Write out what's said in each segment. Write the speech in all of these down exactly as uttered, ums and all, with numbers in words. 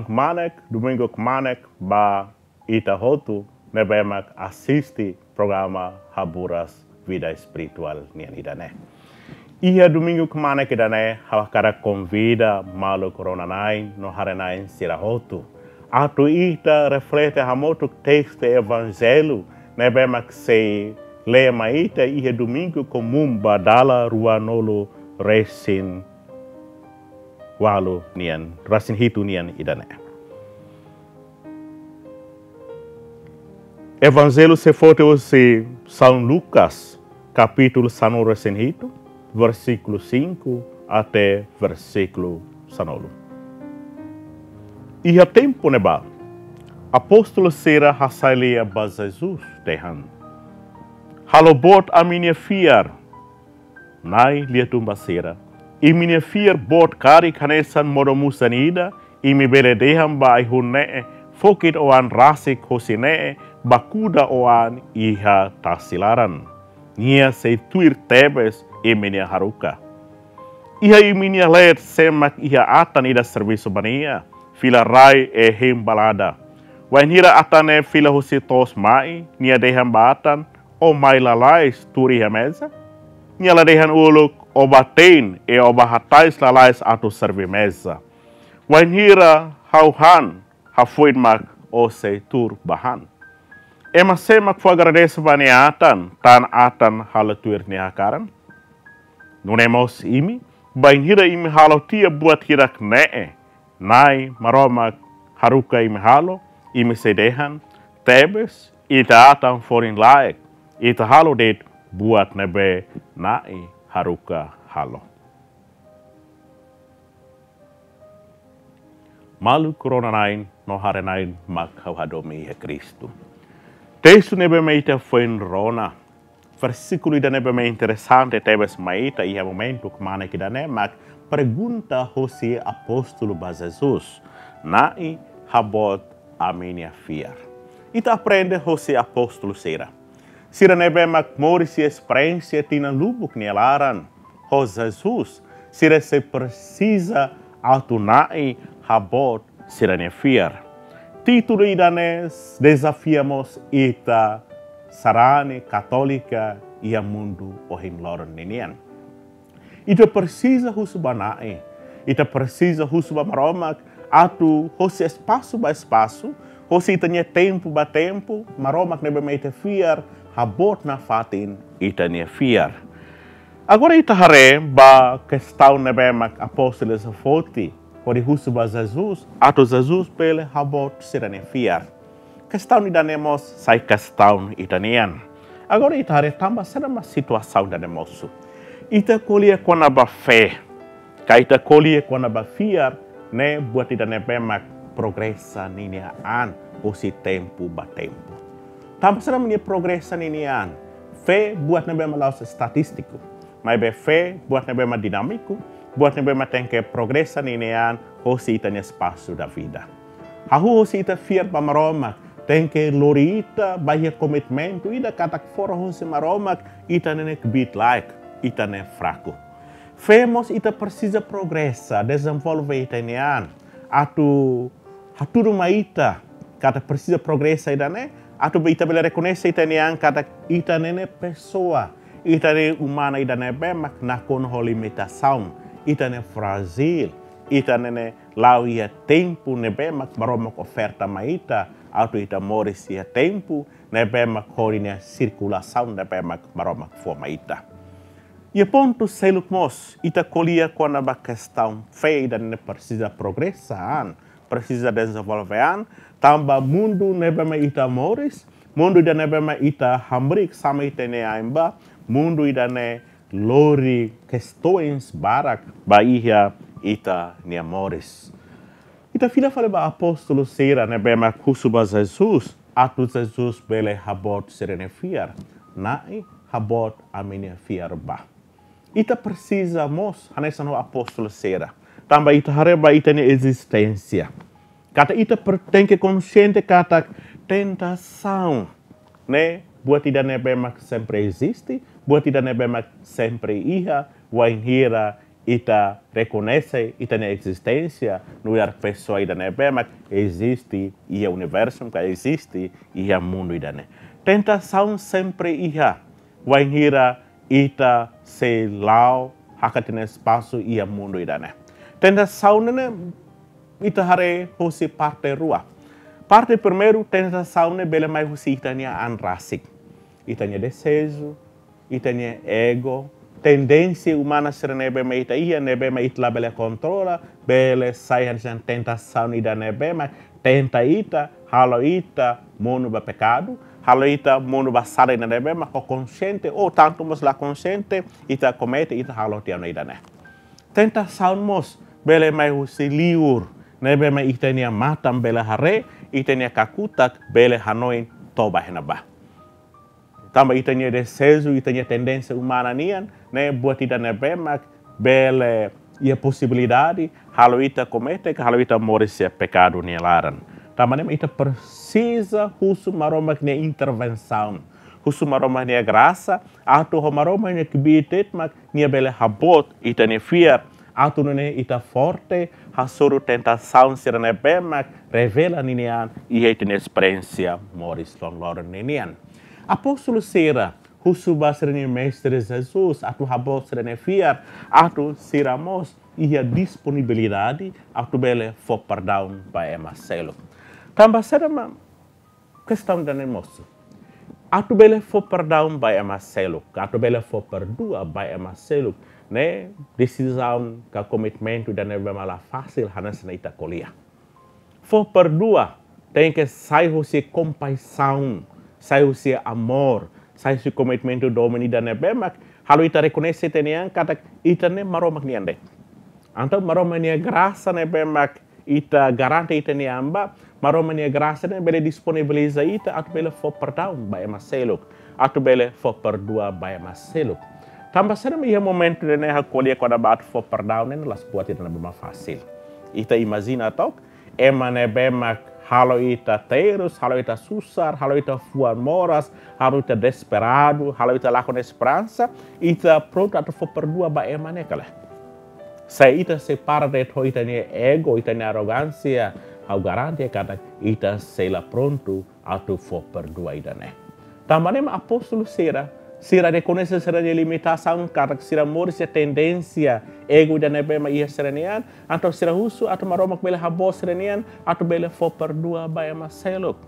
Kmanek, domingu kmanek ba ita hotu ne'ebé mak asiste programa Haburas Vida Espirituál nian ida-ne'e. Iha domingu kmanek ida-ne'e ha'u hakarak konvida maluk rona-na'in no haree-na'in sira hotu atu ita reflete hamutuk testu Evanjellu ne'ebé mak sei lee mai ita iha domingu komún ba dala ruanulu resin walu nian, resin hitu nian ida-ne'e. Evanjellu sei foti husi São Lucas, kapítulu sanulu resin hitu, versíkulu cinco até versíkulu sanulu. Iha tempu ne'ebá, apóstolu sira hasai lia ba Jesus dehan: "Halo boot ami-nia fiar." Na'i lia-tun ba sira: "Imi-nia fiar boot karik hanesan modo-musan ida, imi bele dehan ba ai-hun ne'e: 'Fokit o-an rasik hosi ne'e, ba kuda o-an iha tasi laran.' Nia sei tuir tebes imi-nia haruka. Iha imi-nia leet sé mak iha atan ida servisu ba nia, fila rai-hein balada. Wainhira atan ne'e fila husi to'os mai, nia dehan ba atan: 'O mai lalais tuur iha meza?' Nia la dehan uluk: 'O bá te'in, i o bá hatais lalais atu serví meza.' Wainhira ha'u han, hafoin mak o sei tuur bá han. Ema sé mak fó agradese ba nia atan, tan atan halo tuir nia hakaran?' Nune'e mós imi, bainhira imi halo tiha buat hirak-ne'e Na'i Maromak haruka imi halo, imi sei dehan: 'Tebes, ita atan folin-laek, ita halo de'it buat ne'ebé Na'i haruka halo.'" Maluk rona-na'in no haree-na'in mak ha'u hadomi iha Kristu. Testu ne'ebé mak ita foin rona, versíkulu ida ne'ebé mak interesante tebes mai ita iha momentu kmanek ida-ne'e mak pergunta hosi apóstolu ba Jesus: "Na'i, haboot ami-nia fiar?" Ita aprende hosi apóstolu sira, sira ne'ebé mak moris iha esperiénsia tinan lubuk nia laran ho Jesus, sira sei presiza atu Na'i haboot sira-nia fiar. Títulu ida-ne'e dezafia mós ita sarani katólika iha mundu ohin loron ninian. Ita presiza husu ba Na'i, ita presiza husu ba Maromak atu hosi espasu ba espasu, hosi ita-nia tempu ba tempu, Maromak ne'ebé mak ita fiar, haboot nafatin ita-nia fiar. Agora ita haree ba kestaun ne'ebé mak apóstolu sira foti hodi husu ba Jesus, atu Jesus bele haboot sira-nia fiar. Kestaun ida-ne'e mós sai kestaun ita-nian. Agora ita haree tanba saida mak situasaun ida-ne'e mosu. Ita ko'alia kona-ba fé, ka ita ko'alia kona-ba fiar, ne'e buat ida ne'ebé mak progresa ninia an husi tempu ba tempu. Tanba saida mak nia progresa ninia an? Fé buat ne'ebé mak la'ós estatístiku, maibé fé buat ne'ebé mak dinámiku, buat ne'ebé mak tenke progresa ninia an hosi ita-nia espasu da vida. Hahú hosi ita fiar ba Maromak, tenke lori ita ba iha komitmentu ida katak fora husi Maromak, ita ne'e kbiit-laek, ita ne'e fraku. Fé mós ita presiza progresa, dezenvolve ita-nia an, atu hatudu mai ita katak presiza progresa ida-ne'e, atu ita bele rekoñese ita-nia an katak ita ne'e pesoa, ita ne'e umanu ida ne'ebé mak nakonu ho limitasaun, ita ne'e frájil, ita ne'e la'o iha tempu ne'ebé mak Maromak oferta mai ita, atu ita moris iha tempu ne'ebé mak ho nia sirkulasaun ne'ebé mak Maromak fó mai ita. Iha pontu seluk mós, ita ko'alia kona-ba kestaun fé ida ne'e presiza progresa an, presiza dezenvolve an, tanba mundu ne'ebé mak ita moris, mundu ida ne'ebé mak ita hamriik sama ita-nia ain ba, mundu ida ne'e lori kestaun barak ba iha ita-nia moris. Ita fila fali ba apóstolu sira ne'ebé mak husu ba Jesus, atu Jesus bele haboot sira-nia fiar. Na'i, haboot ami-nia fiar ba. Ita presiza mós hanesan ho apóstolu sira. Tanba ita haree ba ita-nia ezisténsia, katak ita per-, tenke konxiente katak tentasaun ne'e buat ida ne'ebé mak sempre eziste, buat ida ne'ebé mak sempre iha, wainhira ita rekoñese ita-nia ezisténsia nu'udar pesoa ida ne'ebé mak eziste iha universu, ka eziste iha mundu ida-ne'e. Tentasaun sempre iha, wainhira ita sei la'o hakat ita-nia espasu iha mundu ida-ne'e. Tentasaun ne'e ita haree husi parte rua. Parte primeiru, tentasaun ne'e bele mai husi ita-nia an rasik. Ita-nia dezeju, ita-nia ego, tendénsia umana sira ne'ebé mak ita iha, ne'ebé mak ita labele kontrola, bele sai hanesan tentasaun ida ne'ebé mak tenta ita, halo ita monu ba pekadu, halo ita monu ba sala ida ne'ebé mak ho konxiente, ou tantu mós la konxiente, ita komete, ita halo tiha ona ida-ne'e. Tentasaun mós bele mai husi liur, ne'ebé mak ita-nia matan bele haree, ita-nia kakutak bele hanoin toba iha ne'ebá. Tanba ita-nia dezeju, ita-nia tendénsia umana nian, ne'e buat ida ne'ebé mak bele iha posibilidade halo ita komete, ka halo ita moris iha pekadu nia laran. Tanba ne'e mak ita presiza husu Maromak nia intervensaun, husu Maromak nia grasa, atu ho Maromak nia kbiit de'it mak nia bele haboot ita-nia fiar, atu nune'e ita forte hasoru tentasaun sira ne'ebé mak revela ninia an iha ita-nia esperiénsia moris loron-loron ninian. Apóstolu sira husu ba sira-nia Mestre Jesus atu haboot sira-nia fiar, atu sira mós iha disponibilidade atu bele fó perdaun ba ema seluk. Tanba saida mak kestaun ida-ne'e mosu? Atu bele fó perdaun ba ema seluk, atu bele fó perdua ba ema seluk, ne'e desizaun ka komitmentu ida ne'ebé mak la fasil hanesan ita ko'alia. Fó perdua tenke sai husi kompaixaun, sai husi amór, sai husi komitmentu domin ida ne'ebé mak halo ita rekoñese ita-nia an katak ita ne'e Maromak nian de'it. Entaun Maromak nia grasa ne'ebé mak ita garante ita-nia an ba, Maromak nia grasa ne'e bele disponibiliza ita atu bele fó perdaun ba ema seluk, atu bele fó perdua ba ema seluk. Tanba saida mak iha momentu ida-ne'e ha'u ko'alia kona-ba atu fó perdaun ne'e la'ós buat ida ne'ebé mak fasil. Ita imajina took, ema ne'ebé mak halo ita terus, halo ita susar, halo ita fuan moras, halo ita desesperadu, halo ita lakon esperansa, ita prontu atu fó perdua ba ema ne'e ka lae? Se ita sei para de'it ho ita-nia ego, ita-nia arrogánsia, ha'u garante katak ita sei la prontu atu fó perdua ida-ne'e. Tanba ne'e mak apóstolu sira, sira rekoñese sira-nia limitasaun, katak sira moris iha tendénsia ego ida ne'ebé mak iha sira-nia an, entaun sira husu atu Maromak bele haboot sira-nia an atu bele fó perdua ba ema seluk.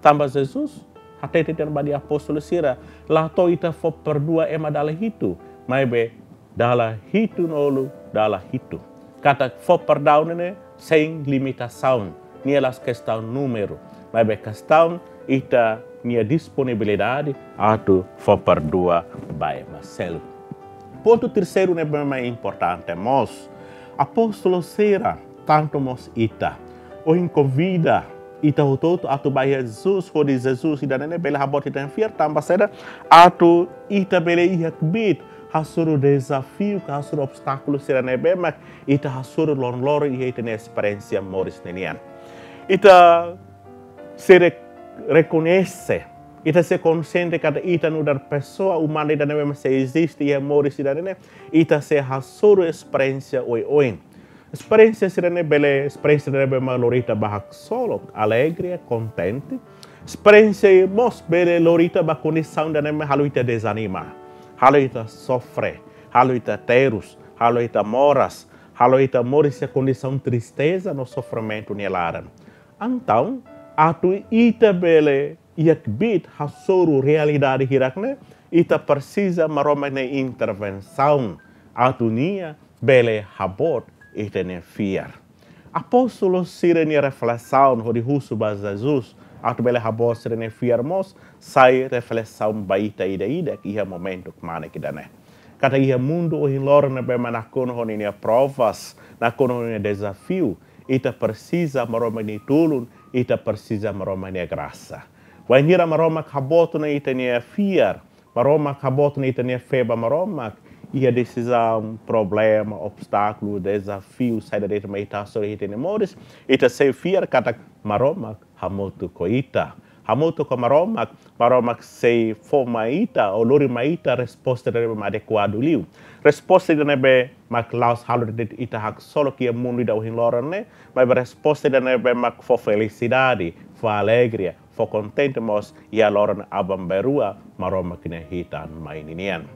Tanba Jesus hatete tiha ona ba nia apóstolu sira, la to'o ita fó perdua ema dala hitu, maibé dala hitunulu dala hitu. Katak fó perdaun ne'e sein limitasaun, nia la'ós kestaun númeru, maibé kestaun ita-nia disponibilidade atu fó perdua ba ema seluk. Pontu terseiru ne'ebé mak importante mós, apóstolu sira, tantu mós ita, ohin konvida ita hotu-hotu atu bá iha Jesus, hodi Jesus ida-ne'e bele haboot ita-nia fiar, tanba saida? Atu ita bele iha kbiit hasoru dezafiu ka hasoru obstákulu sira ne'ebé mak ita hasoru loron-loron iha ita-nia esperiénsia moris ninian. Ita sei re-, rekoñese, ita sei konxiente katak ita nu'udar pesoa umana ida ne'ebé mak sei eziste iha moris ida-ne'e, ita sei hasoru esperiénsia oioin. Esperiénsia sira-ne'e bele esperiénsia ne'ebé mak lori ita ba haksolok, alegria, kontente. Esperiénsia mós bele lori ita ba kondisaun ida ne'ebé mak halo ita dezanima, halo ita sofre, halo ita terus, halo ita moras, halo ita moris iha kondisaun tristeza no sofrimentu nia laran. Entaun, atu ita bele iha kbiit hasoru realidade hirak-ne'e, ita presiza Maromak nia intervensaun atu nia bele haboot ita-nia fiar. Apóstolu sira-nia reflesaun hodi husu ba Jesus atu bele haboot sira-nia fiar mós sai reflesaun ba ita ida-idak iha momentu kmanek ida-ne'e. Katak iha mundu ohin loron ne'ebé mak nakonu ho ninia provas, nakonu ho ninia dezafiu, ita presiza Maromak nia tulun, ita presiza Maromak nia grasa. Wainhira Maromak haboot ona ita-nia fiar, Maromak haboot ona ita-nia fé ba Maromak, iha desizaun, problema, obstákulu, dezafiu saida de'it mak ita hasoru iha ita-nia moris, ita sei fiar katak Maromak hamutuk ho ita. hamutuk ho Maromak, Maromak sei fó mai ita, ou lori mai ita resposta ida ne'ebé mak adekuadu liu. Resposta ida ne'ebé mak la'ós halo de'it ita haksolok iha mundu ida ohin loron ne'e, maibé resposta ida ne'ebé mak fó felisidade, fó alegria, fó kontente mós iha loron aban-bainrua Maromak nia hitan mai ninian.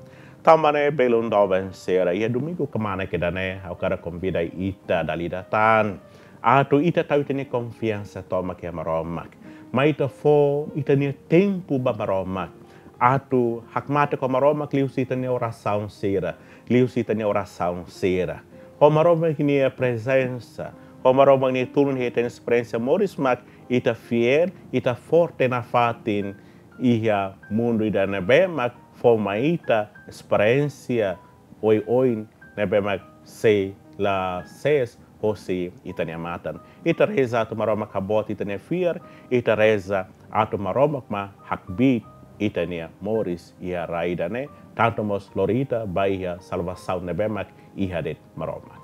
Tanba ne'e belun doben sira, iha domingu kmanek ida-ne'e, ha'u hakarak konvida ita dala ida tan atu ita tau ita-nia konfiansa tomak iha Maromak. Mai ita fó ita-nia tempu ba Maromak. Atu hakmatek ho Maromak liuhusi ita-nia orasaun sira, liuhusi ita-nia orasaun sira. Ho Maromak nia prezensa, ho Maromak nia tulun iha ita-nia esperiénsia moris mak ita fiél, ita forte nafatin iha mundu ida ne'ebé mak fó mai ita esperiénsia oioin ne'ebé mak sei la sees hosi ita-nia matan. Ita reza atu Maromak kaboot ita-nia fiar, ita reza atu Maromak mak hakbiit ita-nia moris iha rai ida-ne'e, tantu mós lori ita ba iha salvasaun ne'ebé mak iha de'it Maromak.